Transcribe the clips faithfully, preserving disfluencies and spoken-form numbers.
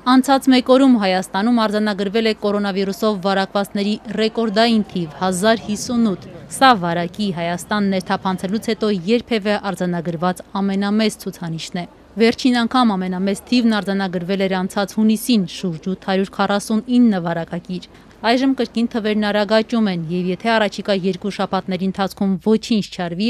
Անցած մեկ օրում Հայաստանում արձանագրվել է կորոնավիրուսով վարակվածների ռեկորդային թիվ հազար հիսունութ։ Սա վարակի Հայաստան ներթափանցելուց հետո երբևէ արձանագրված ամենամեծ ցուցանիշն է։ Վերջին անգամ ամենամեծ թիվն արձանագրվել էր անցած հունիսին շուրջ ութ հարյուր քառասունինը վարակագիր։ Այժմ կրկին թվերն արագ աճում են, եւ եթե առաջիկա երկու շաբաթների ընթացքում ոչինչ չարվի,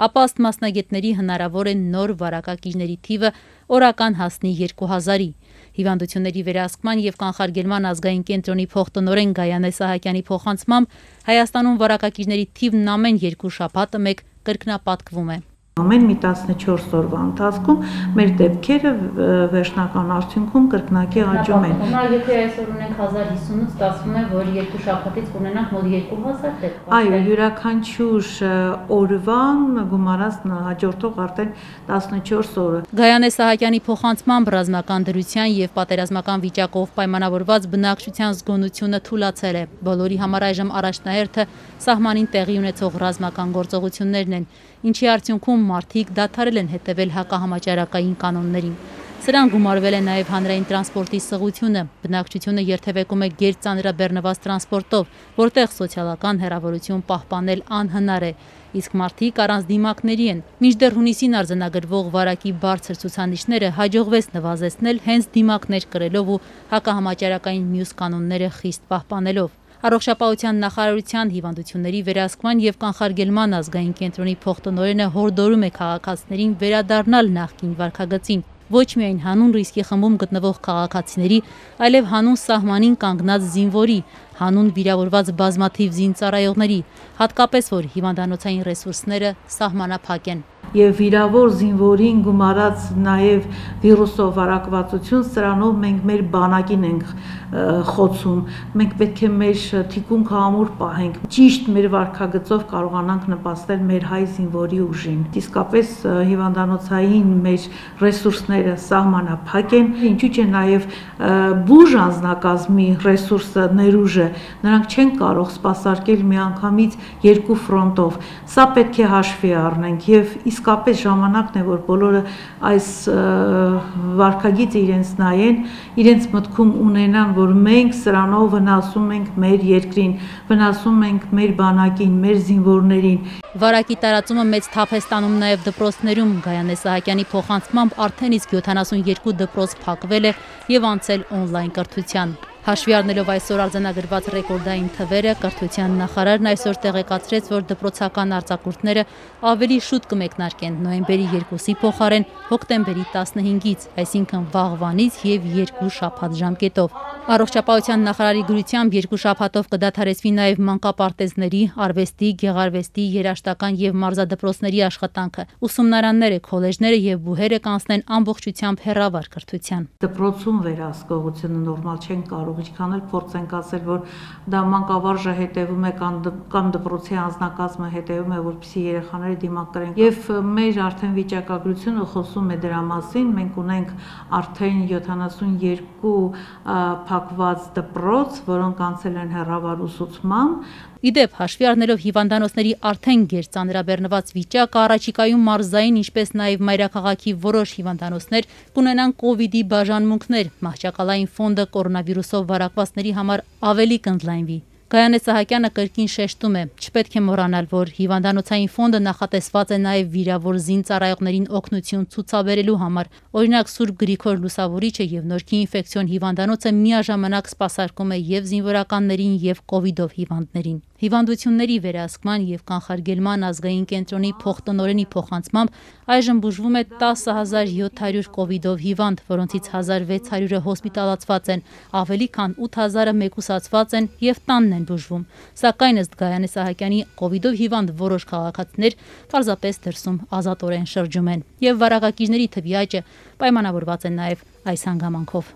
ապա ըստ մասնագետների հնարավոր է նոր վարակագիրների թիվը օրական հասնի երկու հազարի։ Հիվանդությունների վերահսկման եւ կանխարգելման ազգային կենտրոնի փոխտնօրեն Գայանե Սահակյանի փոխանցմամբ Հայաստանում վարակագիրների թիվն ամեն երկու շաբաթը մեկ կրկնապատկվում է։ Ամեն մի տասնչորս օրվա ընթացքում մեր դեպքերը վերջնական արդյունքում կրկնակի աճում են։ Հիմա եթե այսօր ունենք հազար հիսունութ, ստացվում է, որ երկու շաբաթից կունենանք մոտ երկու հազար դեպք։ Այո, յուրաքանչյուր օրվան գումարած հաջորդող արդեն տասնչորս օրը։ Գայանե Սահակյանի փոխանցմամբ ռազմական դրության եւ պատերազմական վիճակով պայմանավորված բնակչության զգոնությունը թուլացել է։ Բոլորի համար այժմ առաջնահերթը սահմանին տեղի ունեցող ռազմական գործողություններն են, ինչի արդյունքում մարդիկ դադարել են հետևել հակահամաճարակային կանոններին։ Սրան գումարվել է նաև հանրային տրանսպորտի սղությունը, բնակչությունը երթևեկում է գերծանրաբեռնված տրանսպորտով, որտեղ սոցիալական հեռավորություն պահպանել անհնար է, իսկ մարդիկ առանց դիմակների են։ Մինչդեռ հունիսին արձանագրվող վարակի բարձր ցուցանիշները հաջողվեց նվազեցնել հենց դիմակներ կրելով ու հակահամաճարակային մյուս կանոնները խիստ պահպանելով։ Առողջապահության նախարարության հիվանդությունների վերահսկման եւ կանխարգելման ազգային կենտրոնի փոխտնօրենը հորդորում է քաղաքացիներին վերադառնալ նախկին վարքագծին, ոչ միայն հանուն ռիսկի խմբում գտնվող քաղաքացիների, այլև հանուն սահմանին կանգնած զինվորի, հանուն վիրավորված բազմաթիվ զինծառայողների, հատկապես որ հիվանդանոցային ռեսուրսները սահմանափակ են։ Եվ վիրավոր զինվորին գումարած նաև վիրուսով վարակվածություն, սրանով մենք մեր բանակին ենք խոցում, մենք պետք է մեր թիկունքը ամուր պահենք, ճիշտ մեր վարքագծով կարողանանք նպաստել մեր հայ զինվորի ուժին։ Իսկապես հիվանդանոցային մեր ռեսուրսները սահմանափակ են, ինչու՞ չէ նաև բուժ անձնակազմի ռեսուրսը ներուժ է, նրանք չեն կարող սպասարկել միանգամից երկու ֆրոնտով։ Սա պետք է հաշվի առնենք եւ իսկապես ժամանակն է, որ բոլորը այս վարքագիծը իրենց նայեն, իրենց մտքում ունենան, որ մենք սրանով վնասում ենք մեր երկրին, վնասում ենք մեր բանակին, մեր զինվորներին։ Վարակի տարածումը մեծ թափ է ստանում նաև դպրոցներում։ Գայանե Սահակյանի փոխանցմամբ արդեն իսկ յոթանասունյոթ դպրոց փակվել է եւ անցել օնլայն կրթության։ Հաշվի առնելով այսօր արձանագրված ռեկորդային թվերը, կրթության նախարարն այսօր տեղեկացրեց, որ դպրոցական արձակուրդները ավելի շուտ կմեկնարկեն նոյեմբերի երկուսի փոխարեն հոկտեմբերի տասնհինգից, այսինքն վաղվանից եւ երկու շաբաթ ժամկետով։ Առողջապահության նախարարի գրությամբ երկու շաբաթով կդադարեցվի նաև մանկապարտեզների, արվեստի, գեղարվեստի, երաժշտական եւ մարզադպրոցների աշխատանքը։ Ուսումնարանները, քոլեջները եւ բուհերը կանցնեն ամբողջությամբ հեռավար կրթության։ Դպրոցում վերահսկողությունը նորմալ չեն կարող, ինչքան էլ փորձենք ասել, որ դա մանկավարժը հետևում է կամ դպրոցի անձնակազմը հետևում է, որպեսզի երեխաները դիմակ կրեն։ Եվ մեր արդեն վիճակագրությունը խոսում է դրա մասին, մենք ունենք արդեն յոթանասունյոթ փակված դպրոց, որոնք անցել են հեռավար ուսուցման։ Իդեպ, հաշվի առնելով հիվանդանոցների արդեն գերծանրաբեռնված վիճակը, առաջիկայում մարզային, ինչպես նաև մայրաքաղաքի որոշ հիվանդանոցներ կունենան կովիդի բաժանմունքներ, մահճակալային ֆոնդը կորոնավիրուսով վարակվածների համար ավելի կընդլայնվի։ Գայանե Սահակյանը կրկին շեշտում է, չպետք է մոռանալ, որ հիվանդանոցային ֆոնդը նախատեսված է նաև վիրավոր զինծառայողներին օգնություն ցուցաբերելու համար։ Օրինակ Սուրբ Գրիգոր Լուսավորիչը եւ Նորքի ինֆեկցիոն հիվանդանոցը միաժամանակ սպասարկում է եւ զինվորականներին եւ կովիդով հիվանդներին։ Հիվանդությունների վերահսկման եւ կանխարգելման ազգային կենտրոնի փոխտնօրենի փոխանցմամբ այժմ բուժվում է տասը հազար յոթ հարյուր կովիդով հիվանդ, որոնցից հազար վեց հարյուրը հոսպիտալացված են, ավելի քան ութ հազարը մեկուսացված են եւ տանն են բուժվում։ Սակայն ըստ Գայանե Սահակյանի կովիդով հիվանդ որոշ քաղաքացիներ պարզապես դրսում ազատորեն շրջում են եւ վարակագիրների թվի աճը պայմանավորված է նաեւ այս հանգամանքով։